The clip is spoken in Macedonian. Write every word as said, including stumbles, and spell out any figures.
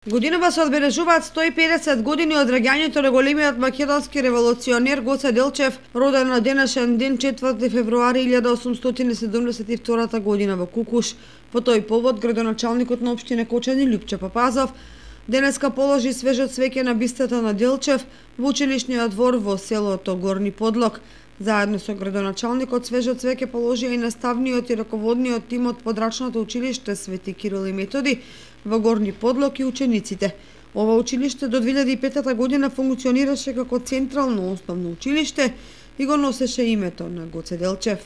Годинава се одбележуваат сто и педесет години од раѓањето на големиот македонски револуционер Гоце Делчев, роден на денешен ден четврти февруари илјада осумстотини седумдесет и втора година во Кукуш. По тој повод градоначалникот на општина Кочани Љупче Папазов денеска положи свежо цвеќе на бистата на Делчев во училишниот двор во селото Горни Подлог. Заедно со градоначалникот свежо цвеќе положија и наставниот и раководниот тим од подрачното училиште Свети Кирил и Методи во Горни Подлог и учениците. Ова училиште до две илјади и пета година функционираше како централно основно училиште и го носеше името на Гоце Делчев.